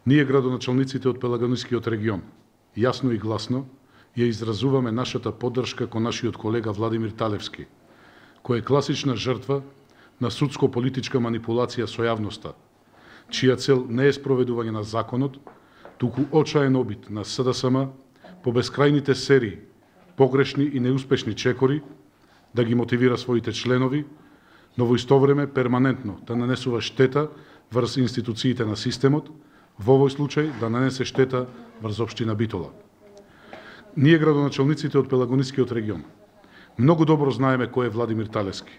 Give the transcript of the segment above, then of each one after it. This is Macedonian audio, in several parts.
Ние, градоначалниците од Пелагонискиот регион, јасно и гласно ја изразуваме нашата поддршка кон нашиот колега Владимир Талевски, кој е класична жртва на судско-политичка манипулација со јавноста, чија цел не е спроведување на законот, туку очаен обид на СДСМ по бескрајните серии погрешни и неуспешни чекори да ги мотивира своите членови, но во исто време перманентно да нанесува штета врз институциите на системот, во овој случај да нанесе штета врз општина Битола. Ние, градоначалниците од Пелагонискиот регион, многу добро знаеме кој е Владимир Талевски.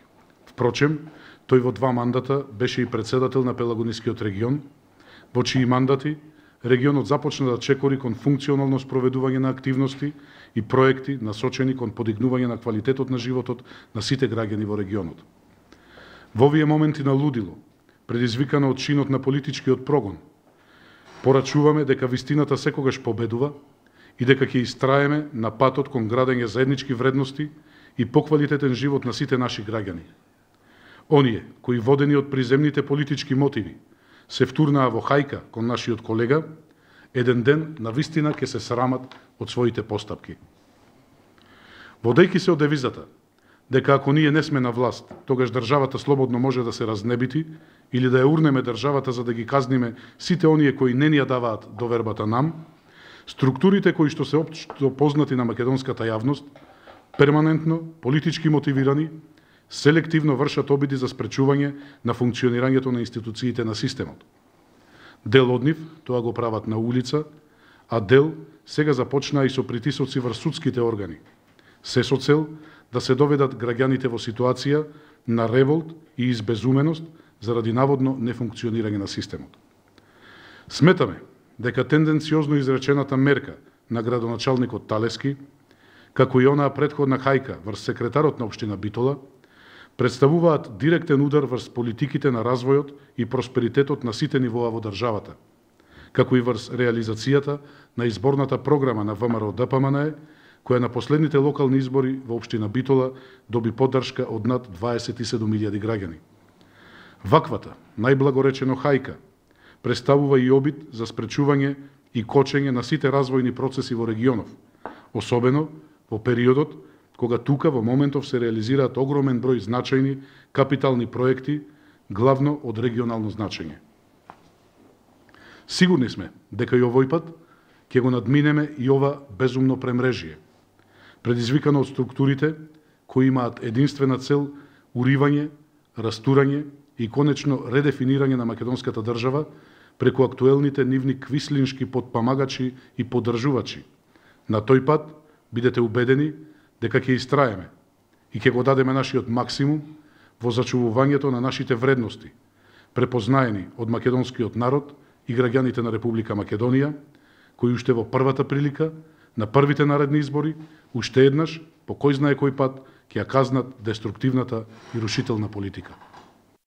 Впрочем, тој во 2 мандата беше и председател на Пелагонискиот регион, во чии мандати регионот започна да чекори кон функционално спроведување на активности и проекти насочени кон подигнување на квалитетот на животот на сите граѓани во регионот. Во овие моменти на лудило, предизвикано од чинот на политичкиот прогон, порачуваме дека вистината секогаш победува и дека ќе истраеме на патот кон градење заеднички вредности и поквалитетен живот на сите наши граѓани. Оние кои водени од приземните политички мотиви се втурнаа во хајка кон нашиот колега, еден ден на вистина ќе се срамат од своите постапки. Водејќи се од девизата дека ако ние не сме на власт, тогаш државата слободно може да се разнебити или да ја урнеме државата за да ги казниме сите оние кои не ни ја даваат довербата нам, структурите кои што се општо познати на македонската јавност, перманентно, политички мотивирани, селективно вршат обиди за спречување на функционирањето на институциите на системот. Дел од нив тоа го прават на улица, а дел сега започнаа и со притисоци врз судските органи, се со цел да се доведат граѓаните во ситуација на револт и избезуменост заради наводно нефункционирање на системот. Сметаме дека тенденциозно изречената мерка на градоначалникот Талевски, како и онаа претходна хајка врз секретарот на општина Битола, представуваат директен удар врз политиките на развојот и просперитетот на сите нивоа во државата, како и врз реализацијата на изборната програма на ВМРО-ДПМНЕ, која на последните локални избори во општина Битола доби поддршка од над 27.000 граѓани. Ваквата, најблагоречено хајка, представува и обид за спречување и кочење на сите развојни процеси во регионов, особено во периодот кога тука во моментов се реализираат огромен број значајни капитални проекти, главно од регионално значење. Сигурни сме дека и овој пат ќе го надминеме и ова безумно премрежие, предизвикано од структурите кои имаат единствена цел уривање, растурање и конечно редефинирање на македонската држава преку актуелните нивни квислиншки подпомагачи и поддржувачи. На тој пат бидете убедени дека ќе истраеме и ќе го дадеме нашиот максимум во зачувувањето на нашите вредности, препознаени од македонскиот народ и граѓаните на Република Македонија, кои уште во првата прилика, на првите наредни избори, уште еднаш, по кој знае кој пат, ќе ја казнат деструктивната и рушителна политика.